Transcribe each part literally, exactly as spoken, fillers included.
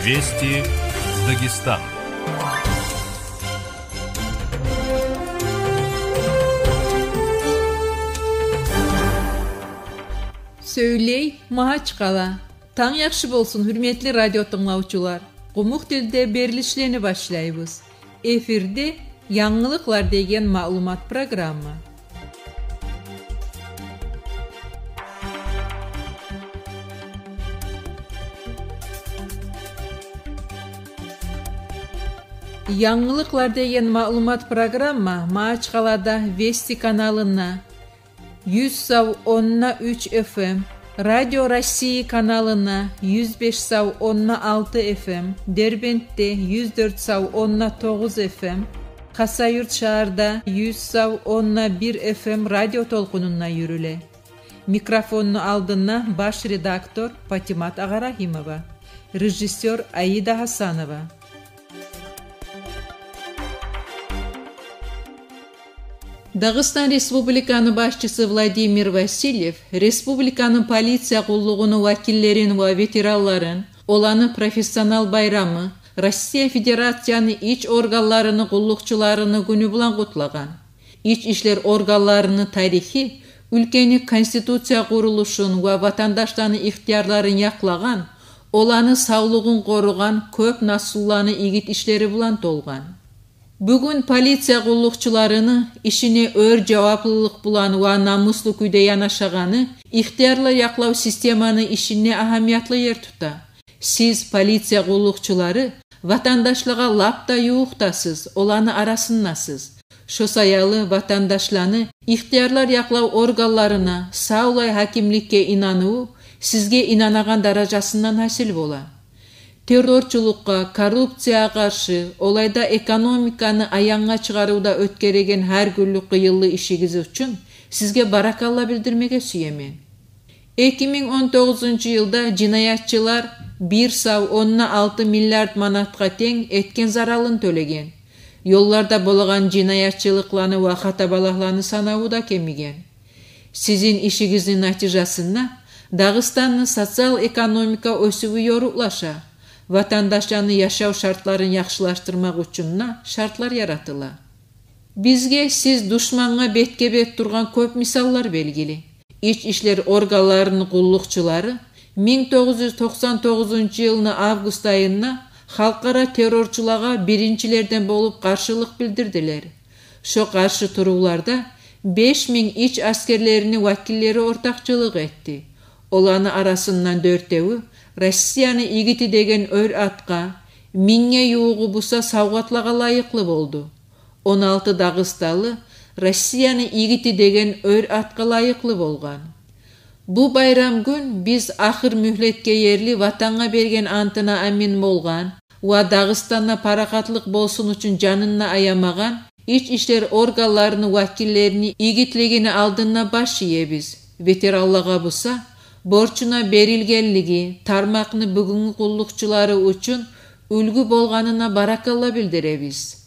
Вести Дагестан. Сёйлей Магьачкъала. Танг яхшы болсун, гьюрметли радио тынглавчулар. Къумукъ тилде берилишлени башлайбыз. Эфирде «Янгылыкълар» деген маълумат программа. «Янгылыкълар» деген маълумат программа Магьачкъалада Вести каналына юз сав онна уьч Ф М, Радио России каналына юз беш сав онна алты Ф М, Дербентде юз дёрт сав онна тогъуз Ф М, Хасавюрт шагьарда юз сав онна бир Ф М радио толкъунунда юрюле. Микрофонну алдында баш редактор Патимат Агъарагьимова, режиссёр Аида Гьасанова. Дагъыстан Республиканы башчысы Владимир Васильев республиканы полиция къуллугъуну вакиллерин ва ветеранларын оланы профессионал байрамы, Россия Федерацияны ич органларыны къуллукъчуларыны гюню булан къутлагъан. Ич ишлер органларыны тарихи уьлкени конституция къурулушун ва ватандашланы ихтиярларын якълагъан, оланы савлугъун къоругъан кёп насилланы игит ишлери булан толгъан. Бугюн полиция къуллукъчуларыны ишине оьр жаваплылыкъ булан ва намуслу кюйде янашагъаны ихтиярлар якълав системаны ишинде агьамиятлы ер тута. Сиз, полиция къуллукъчулары, ватандашлагъа лап да ювукъдасыз, оланы арасындасыз. Шо саялы ватандашланы ихтиярлар якълав органларына, савлай гьакимликге инаныву сизге инанагъан даражасындан гьасил бола. Террорчулукъгъа, коррупциягъа къаршы, олайда экономиканы аянгъа чыгъарывда оьтгереген гьар гюнлюк къыйынлы ишигиз учун сизге баракалла билдирмеге сюемен. Эки минг он тогъузунчу йылда жинаятчылар бир сав онна алты миллиард манатгъа тенг этген заралын тёлеген. Ёлларда болагъан жинаятчылыкъланы ва хатабалагъланы санаву да кемиген. Сизин ишигизни натижасында Дагъыстанны социал-экономика оьсювю ёрукълаша, ватандашланы яшав шартларын яхшылашдырмакъ учун да шартлар яратыла. Бизге сиз душмангъа бетге-бет тургъан кёп мисаллар белгили. Ич ишлер органларыны къуллукъчулары минг тогъуз юз токъсан тогъузунчу йылны август айында халкъара террорчулагъа биринчилерден болуп къаршылыкъ билдирдилер. Шо къаршы турувларда беш минг ич аскерлерини вакиллери ортакъчылыкъ этди. Оланы арасындан дёртевю Россияны игити деген оьр атгъа, мингге ювугъу буса савгъатлагъа лайыкълы болду. Он алты дагъыстанлы Россияны игити деген оьр атгъа лайыкълы болгъан. Бу байрам гюн биз ахыр мюгьлетге ерли Ватангъа берген антына амин болгъан ва Дагъыстанда парахатлыкъ болсун учун жанын да аямагъан ич ишлер органларыны вакиллерини игитлигини алдында баш иебиз. Ветеранлагъа буса борчуна берилгенлиги, тармакъны бугюнгю къуллукъчулары учун уьлгю болгъанына баракалла билдиребиз.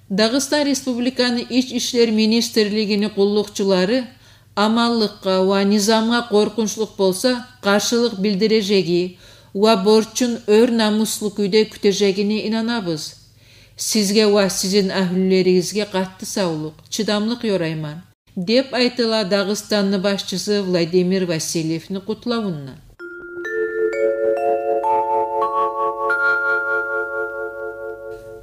Дагъыстан Республиканы Ич ишлер министрлигини къуллукъчулары аманлыкъгъа ва низамгъа къоркъунчлукъ болса, къаршылыкъ билдирежеги ва борчун оьр намуслу кюйде кютежегине инанабыз. Сизге ва сизин агьлюлеригизге къатты савлукъ, чыдамлыкъ ёрайман, деп айтыла Дагъыстанны башчысы Владимир Васильевни къутлавунда.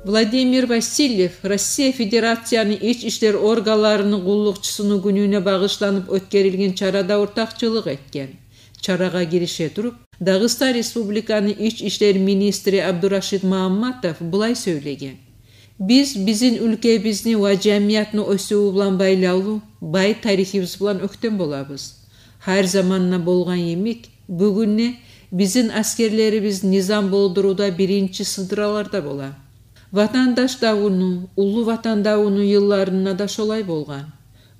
Владимир Васильев Россия Федерацияны Ич ишлер органларыны къуллукъчусуну гюнюне багъышланып оьтгерилген чарада ортакъчылыкъ этген. Чарагъа гирише туруп, Дагъыстан Республиканы Ич ишлер министри Абдурашид Магьамматов булай сёйлеген: «Биз бизин уьлкебизни ва жамиятны оьсювю булан байлавлу бай тарихибиз булан оьктем болабыз. Гьар заманда болгъан йимик, бугюн де бизин аскерлерибиз низам болдурувда биринчи сыдраларда бола. Ватандаш давуну, Уллу Ватан давуну йылларында да шолай болгъан.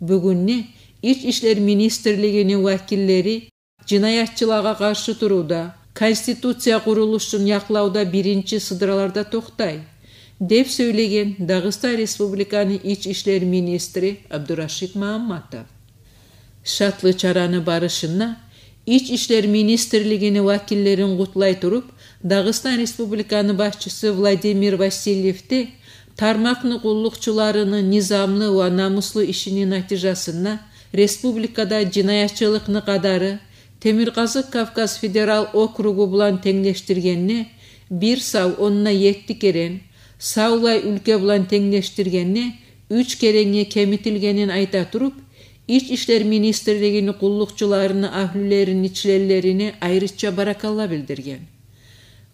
Бугюн де Ич ишлер министрлигини вакиллери жинаятчылагъа къаршы турувда, конституция къурулушун якълавда биринчи сыдраларда токътай», — деп сёйлеген Дагъыстан Республиканы Ич ишлер министри Абдурашид Магьамматов. Шатлы чараны барышында Ич ишлер министрлигини вакиллерин къутлай туруп, Дагъыстан Республиканы башчысы Владимир Васильев де тармакъны къуллукъчуларыны низамлы ва намуслу ишини натижасында республикада жинаятчылыкъны къадары Темиркъазыкъ Кавказ федерал округу булан тенглешдиргенде бир сав онда етти керен, савлай уьлке булан тенглешдиргенде уьч керенге кемитилгенин айта туруп, Ич ишлер министрлигини къуллукъчуларыны агьлюлерини членлерине айрыча баракалла билдирген.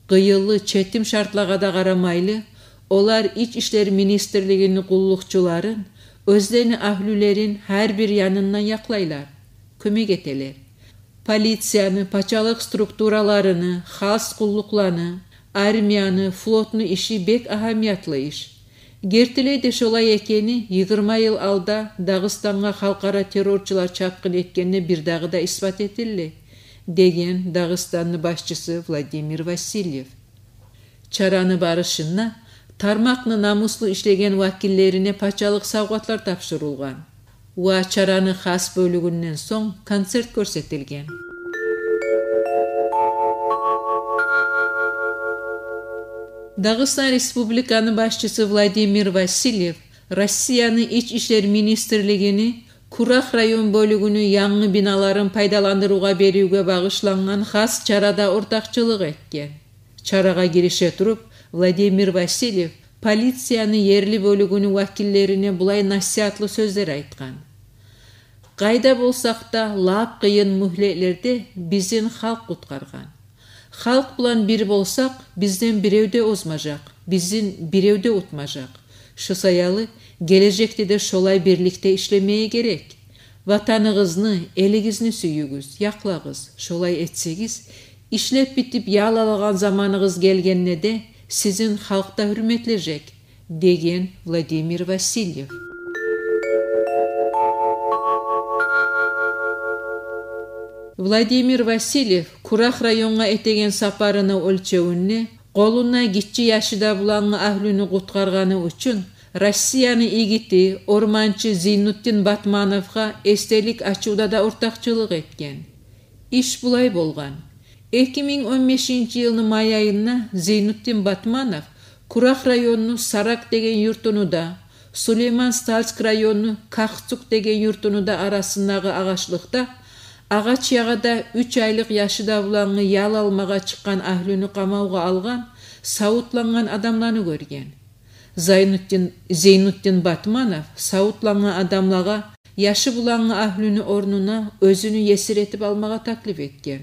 Къыйынлы, четим шартлагъа да къарамайлы, олар Ич ишлер министрлигини къуллукъчуларын оьзлени агьлюлерин гьар бир янындан якълайлар, кёмек этелер. Полицияны, пачалыкъ структураларыны, хас къуллукъланы, армияны, флотну иши бек агьамиятлы иш. Гертилей де шолай экени йигирма йыл алда Дагъыстангъа халкъара террорчулар чапгъын этгенде бир дагъы да исбат этилди, деген Дагъыстанны башчысы Владимир Васильев. Чараны барышында тармакъны намуслу ишлеген вакиллерине пачалыкъ савгъатлар тапшурулгъан ва чараны хас бёлюгюнден сонг концерт гёрсетилген. Дагъыстан Республиканы башчысы Владимир Васильев Россияны Ич ишлер министрлигини Курах район бёлюгюню янгы биналарын пайдаландырывгъа беривге багъышлангъан хас чарада ортакъчылыкъ этген. Чарагъа гирише туруп, Владимир Васильев полицияны ерли бёлюгюню вакиллерине булай насигьатлы сёзлер айтгъан: «Къайда болсакъ да, лап къыйын мюгьлетлерде бизин халкъ къутгъаргъан. Халкъ булан бир болсакъ, бизден бирев де озмажакъ, бизин бирев де утмажакъ. Шо саялы гележекде де шолай бирликде ишлемеге герек. Ватаныгъызны, элигизни сююгюз, якълагъыз. Шолай этсегиз, ишлеп битип ял алагъан заманыгъыз гелгенде де сизин халкъ да гьюрметлежек», — деген Владимир Васильев. Владимир Васильев Курах районгъа этеген сапарыны оьлчевюнде къолунда гиччи яшы да булангъы агьлюню къутгъаргъаны учун Россияны игити, орманчы Зейнутдин Батмановгъа эсделик ачывда да ортакъчылыкъ этген. Иш булай болгъан. Эки минг он бешинчи йылны май айында Зейнутдин Батманов Курах районну Сарак деген юртуну да, Сулейман-Стальск районну Кахцук деген юртуну да арасындагъы агъачлыкъда агъач ягъада уьч айлыкъ яшы да булангъы ял алмагъа чыкъгъан агьлюню къамавгъа алгъан савутлангъан адамланы гёрген. Зайнутдин, Зейнутдин Батманов савутлангъан адамлагъа яшы булангъы агьлюню орнуна оьзюню есир этип алмагъа таклиф этген.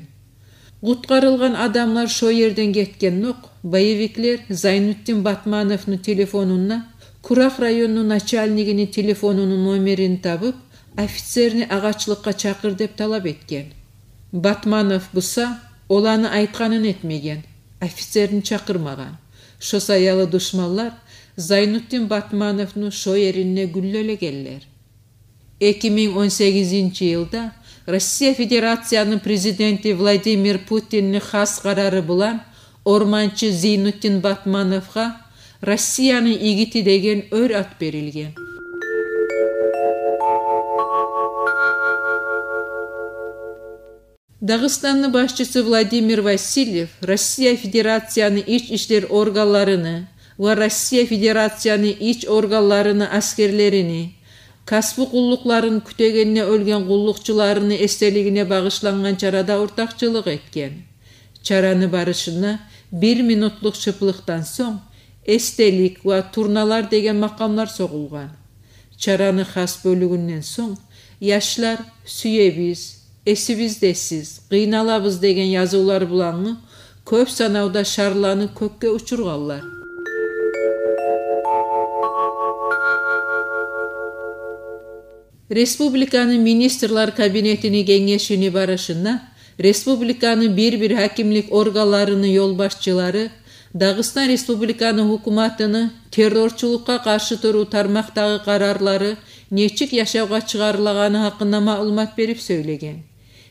Къутгъарылгъан адамлар шо ерден гетгендокъ, боевиклер Зайнутдин Батмановну телефонунда Курах районну начальнигини телефонуну номерин табып, офицерни агъачлыкъгъа чакъыр деп талап этген. Батманов буса оланы айтгъанын этмеген, офицерни чакъырмагъан. Шо саялы душманлар Зайнутдин Батмановну шо еринде гюллелегенлер. Эки минг он сегизинчи йылда Россия Федерацияны президенти Владимир Путинни хас къарары булан орманчы Зейнутдин Батмановгъа «Россияны игити» деген оьр ат берилген. Дагъыстанны башчысы Владимир Васильев Россия Федерацияны ич ишлер органларыны ва Россия Федерацияны ич органларыны аскерлерини, касбу къуллукъларын кютегенде оьлген къуллукъчуларыны эсделигине багъышлангъан чарада ортакъчылыкъ этген. Чараны барышында бир минутлукъ шыплыкъдан сонг эсделик ва турналар деген макъамлар согъулгъан. Чараны хас бёлюгюнден сонг яшлар «Сюебиз», «Эсибиздесиз», «Къыйналабыз» деген язывлар булангъы кёп санавда шарланы кёкге учургъанлар. Республиканы Министрлер кабинетини генгешини барышында республиканы бир-бир гьакимлик органларыны ёлбашчылары Дагъыстан Республиканы гьукуматыны террорчулукъгъа къаршы турув тармакъдагъы къарарлары нечик яшавгъа чыгъарылагъаны гьакъында маълумат берип сёйлеген.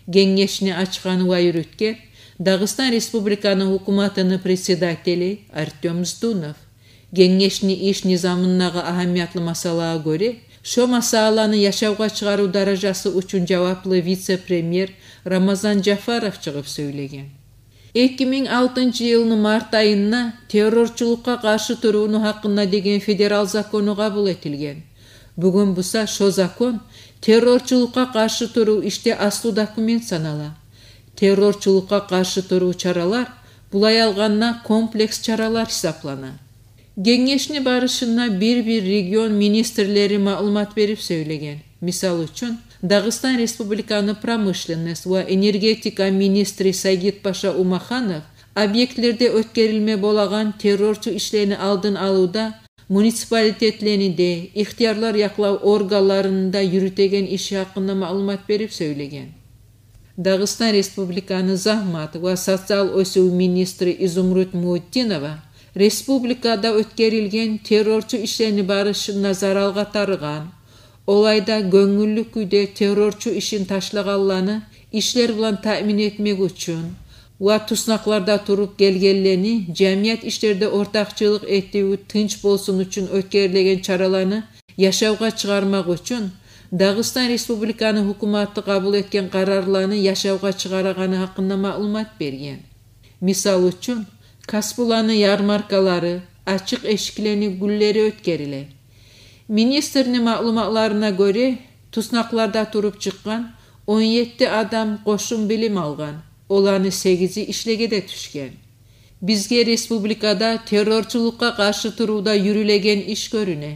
Генгешни ачгъан ва юрютген Дагъыстан Республиканы гьукуматыны председатели Артём Здунов. Генгешни иш низамындагъы агьамиятлы масъалагъа гёре, шо масъаланы яшавгъа чыгъарыв даражасы учун жаваплы вице-премьер Рамазан Жафаров чыгъып сёйлеген. Эки минг алтынчы йылны март айында террорчулукъгъа къаршы турувну гьакъында деген федерал закону къабул этилген. Бугюн буса шо закон террорчулукъгъа къаршы турув ишде аслу документ санала. Террорчулукъгъа къаршы турув чаралар, булай алгъанда, комплекс чаралар гьисаплана. Генгешни барышында бир-бир регион министрлери маълумат берип сёйлеген. Мисал учун, Дагъыстан Республиканы промышленность ва энергетика министри Сайгитпаша Умаханов объектлерде оьтгерилме болагъан террорчу ишлени алдын алывда муниципалитетлени де, ихтиярлар якълав органларыны да юрютеген иши гьакъында маълумат берип сёйлеген. Дагъыстан Республиканы загьмат ва социал оьсюв министри Изумруд Муутдинова республикада оьтгерилген террорчу ишлени барышында заралгъа тарыгъан, олай да гёнгюллю кюйде террорчу ишин ташлагъанланы ишлер булан таъмин этмек учун ва туснакъларда туруп гелгенлени жамият ишлерде ортакъчылыкъ этив тынч болсун учун оьтгерилеген чараланы яшавгъа чыгъармакъ учун Дагъыстан Республиканы гьукуматы къабул этген къарарланы яшавгъа чыгъарагъаны гьакъында маълумат берген. Мисал учун, касбуланы ярмаркалары, ачыкъ эшиклени гюнлери оьтгериле. Министрни маълуматларына гёре, туснакъларда туруп чыкъгъан он етти адам къошум билим алгъан, оланы сегизи ишлеге де тюшген. Бизге республикада террорчулукъгъа къаршы турувда юрюлеген иш гёрюне.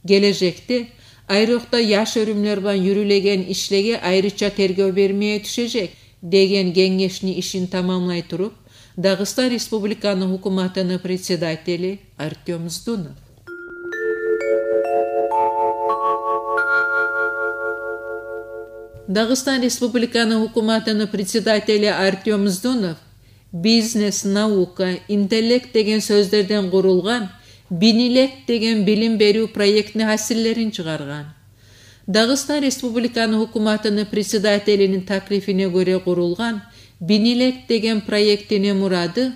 Гележекде, айрокъда яш оьрюмлер булан юрюлеген ишлеге айрыча тергев бермеге тюшежек, деген генгешни ишин тамамлай туруп, Дагъыстан Республиканы гьукуматыны председатели Артём Здунов. Дагъыстан Республиканы гьукуматыны председатели Артём Здунов бизнес, наука, интеллект деген сёзлерден къурулгъан «Бинилект» деген билим берив проектни гьасиллерин чыгъаргъан. Дагъыстан Республиканы гьукуматыны председателини таклифине гёре къурулгъан «Бинилект» деген проектини мурады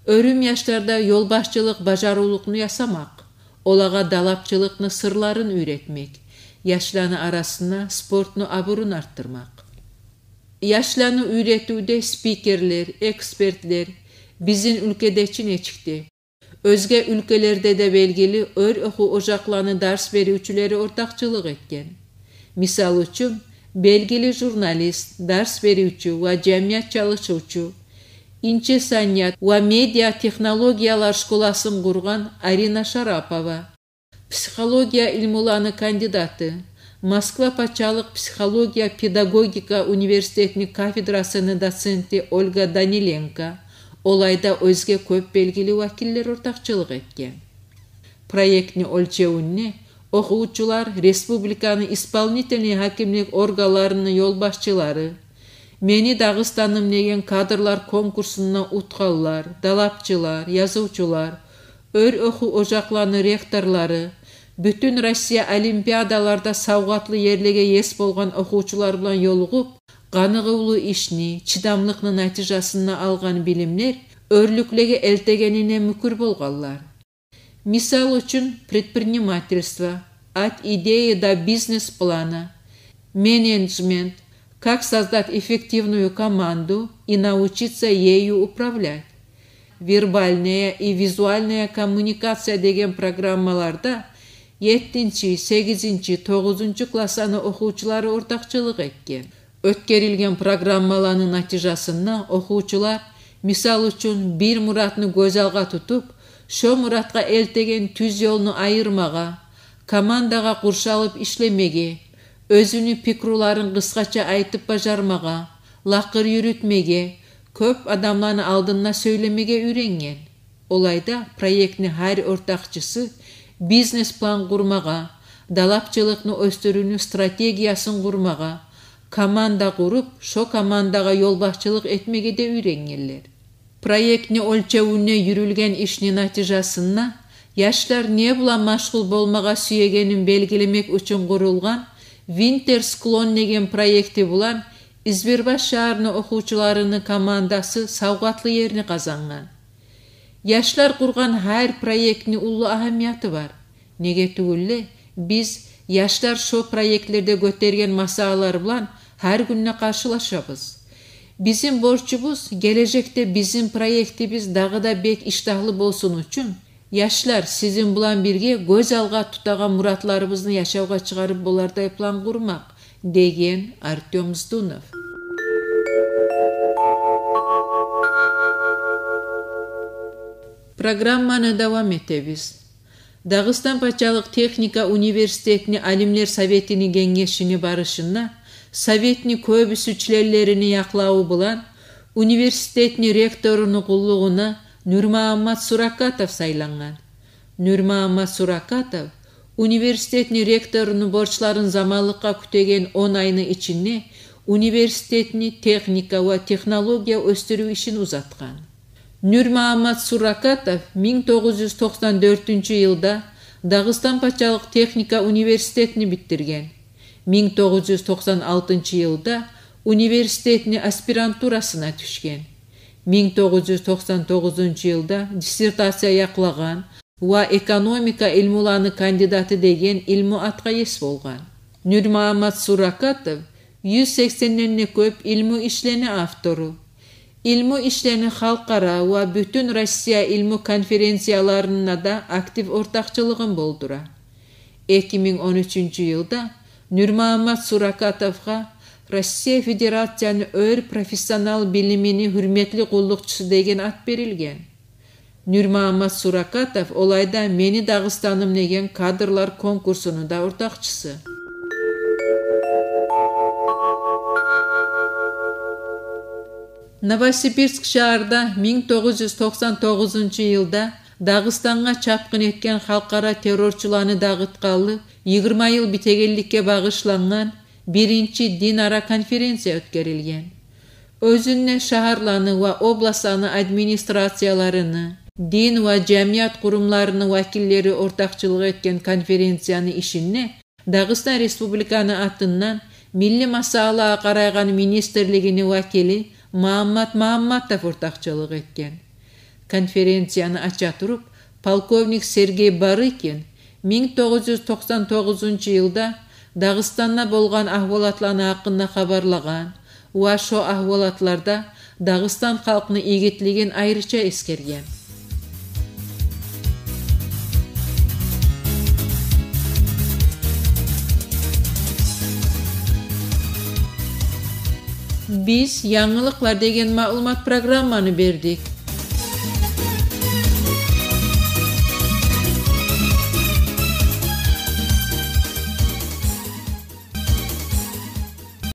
оьрюм яшларда ёлбашчылыкъ бажарывлукъну ясамакъ, олагъа далапчылыкъны сырларын уьйретмек, яшланы арасында спортну абурун артдырмакъ. Яшланы уьйретивде спикерлер, экспертлер бизин уьлкеде чи нечикде, оьзге уьлкелерде де белгили оьр охув ожакъланы дарс беривчюлери ортакъчылыкъ этген. Мисал учун, белгили журналист, дарс беривчю ва жамият чалышывчу, инче саният ва медиа технологиялар школасын къургъан Арина Шарапова, психология илмуланы кандидаты, Москва пачалыкъ психология-педагогика университетини кафедрасыны доценти Ольга Даниленко, олай да оьзге кёп белгили вакиллер ортакъчылыкъ этген. Проектни оьлчевюнде охувчулар республиканы исполнительный гьакимлик органларыны ёлбашчылары, «Мени Дагъыстаным» деген кадрлар конкурсунда утгъанлар, далапчылар, язывчулар, оьр охув ожакъланы ректорлары, бютюн Россия олимпиадаларда савгъатлы ерлеге ес болгъан охувчулар булан ёлугъуп, къаныгъывлу ишни, чыдамлыкъны натижасында алгъан билимлер оьрлюклеге элтегенине мюкюр болгъанлар. Мисал учун, предпринимательство, от идеи до бизнес-плана, менеджмент, как создать эффективную команду и научиться ею управлять, вербальная и визуальная коммуникация деген программаларда еттинчи, сегизинчи, тогъузунчу классланы охувчулары ортакъчылыкъ этген. Оьтгерилген программаланы натижасында охувчулар, мисал учун, бир муратны гёз алгъа тутуп, шо муратгъа элтеген тюз ёлну айырмагъа, командагъа къуршалып ишлемеге, оьзюню пикруларын къысгъача айтып бажармагъа, лакъыр юрютмеге, кёп адамланы алдында сёйлемеге уьйренген. Олай да проектни гьар ортакъчысы бизнес-план къурмагъа, далапчылыкъны оьсдюрювню стратегиясын къурмагъа, команда къуруп, шо командагъа ёлбашчылыкъ этмеге де уьйренгенлер. Проектни оьлчевюнде юрюлген ишни натижасында яшлар не булан машгъул болмагъа сюегенин белгилемек учун къурулгъан «Винтер склон» деген проекти булан Избербаш шагьарны охувчуларыны командасы савгъатлы ерни къазангъан. Яшлар къургъан гьар проектни уллу агьамияты бар. Неге тюгюл де, биз Яшлар шо проектлерде гётерген масъалалар булан гьар гюн де къаршылашабыз. Бизин борчубуз — гележекде бизин проектибиз дагъы да бек ишдагьлы болсун учун, яшлар, сизин булан бирге гёз алгъа тутагъан муратларыбызны яшавгъа чыгъарып болардай план къурмакъ, — деген Артём Здунов. Программаны давам этебиз. Дагъыстан пачалыкъ техника университетни алимлер советини генгешини барышында советни кёбюсю членлерини якълаву булан университетни ректоруну къуллугъуна Нурмагьаммат Суракатов сайлангъан. Нурмагьаммат Суракатов университетни ректоруну борчларын заманлыкъгъа кютеген он айны ичинде университетни техника ва технология оьсдюрюв ишин узатгъан. Нурмагьаммат Суракатов минг тогъуз юз токъсан дёртюнчю йылда Дагъыстан пачалыкъ техника университетни битдирген. Минг тогъуз юз токъсан алтынчы йылда университетни аспирантурасына тюшген. Минг тогъуз юз токъсан тогъузунчу йылда диссертация якълагъан ва экономика илмуланы кандидаты деген илму атгъа ес болгъан. Нурмагьаммат Суракатов юз сексенден де кёп илму ишлени автору. Илму ишлени халкъара ва бютюн Россия илму конференцияларына да актив ортакъчылыгъын болдура. Эки минг он уьчюнчю йылда Нурмагьаммат Суракатовгъа Россия Федерацияны оьр профессионал билимини гьюрметли къуллукъчусу деген ат берилген. Нурмагьаммат Суракатов олайда «Мени Дагъыстаным» деген кадрлар конкурсуну да ортакъчысы. Новосибирск шагьарда минг тогъуз юз токъсан тогъузунчу йылда Дагъыстангъа чапгъын этген халкъара террорчуланы дагъытгъанлы йигирма йыл битегенликге багъышлангъан биринчи динара конференция оьтгерилген. Оьзюнде шагьарланы ва областланы администрацияларыны, дин ва жамият къурумларыны вакиллери ортакъчылыкъ этген конференцияны ишинде Дагъыстан Республиканы атындан милли масъалагъа къарайгъан министрлигини вакили Магьаммат Магьамматов ортакъчылыкъ этген. Конференцияны ача туруп, полковник Сергей Барыкин минг тогъуз юз токъсан тогъузунчу йылда Дагъыстанда болгъан агьвалатланы гьакъында хабарлагъан ва шо агьвалатларда Дагъыстан халкъны игитлигин айрыча эсгерген. Биз «Янгылыкълар» деген маълумат программаны бердик.